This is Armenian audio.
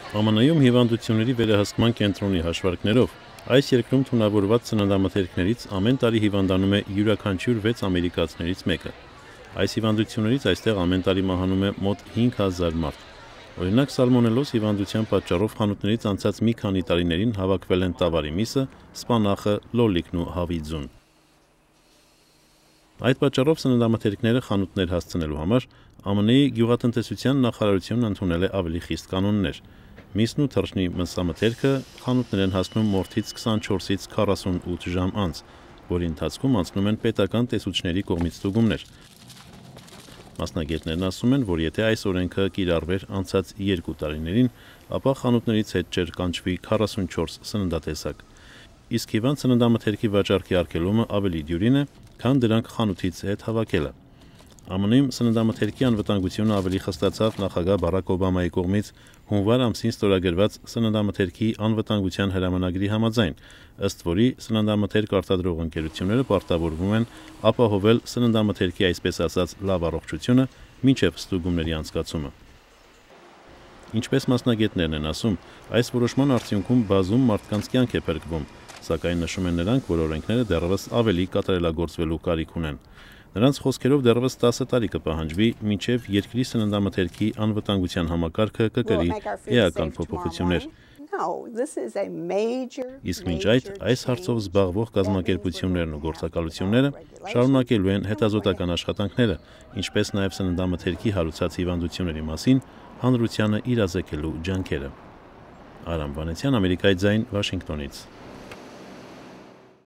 ԱՄՆ-ում հիվանդությունների վերահսկման կենտրոնի հաշվարկներով այս երկրում թունավորված սննդամթերքներից ամեն տարի հիվանդանում է յուրաքանչյուր 6 ամերիկացիներից մեկը։ Այս հիվանդություններից այստեղ ամեն տարի մահանում է մոտ 5000 մարդ։ Օրինակ սալմոնելոզ հիվանդության պատճառով խանութներից անցած մի քանի տարիներին հավաքվել են տավարի միսը, սպանախը, լոլիկն ու հավիձուն։ Այդ պատճառով սննդամթերքները խանութներ հասցնելու համար ԱՄՆ-ի գյուղատնտեսության նախարարությունն ընդունել է ավելի խիստ կանոններ։ Միսն ու թռչնի մսամթերքը խանութներ են հասնում մորթից 24-ից 48 ժամ անց, որի ընթացքում անցնում են պետական տեսուչների կողմից ստուգումներ։ Մասնագետներն ասում են, որ եթե այս օրենքը կիրառվեր անցած 2 տարիներին, ապա խանութներից հետ չէր կանչվի 44 սննդատեսակ։ Իսկ հիվանդ սննդամթերքի վաճառքի արգելումը ավելի դյուրին է, քան դրանք խանութից հետ հավաքելը։ ԱՄՆ-ում սննդամթերքի անվտանգությունը ավելի խստացավ նախագահ Բարաք Օբամայի կողմից հունվար ամսին ստորագրված սննդամթերքի անվտանգության հրամանագրի համաձայն, ըստ որի սննդամթերք արտադրող ընկերությունները պարտավորվում են ապահովել սննդամթերքի այսպես ասած լավ առողջությունը մինչև ստուգումների անցկացումը։ Ինչպես մասնագետներն են ասում, այս որոշման արդյունքում բազում մարդկանց կյանք է փրկվում, սակայն նշում են նրանք, որ օրենքները դեռևս ավելի կատարելագործվելու կարիք ունեն։ Նրանց խոսքերով դեռևս 10 տարի կպահանջվի, մինչև երկրի սննդամթերքի անվտանգության համակարգը կկրի էական փոփոխություններ։ Իսկ մինչ այս հարցով զբաղվող կազմակերպություններն ու գործակալությունները շարունակելու են հետազոտական աշխատանքները, ինչպես նաև սննդամթերքի հարուցած հիվանդությունների մասին հանրությանը իրազեկելու ջանքերը։ Արամ Վանեցյան, Ամերիկայի ձայն, Վաշինգտոնից։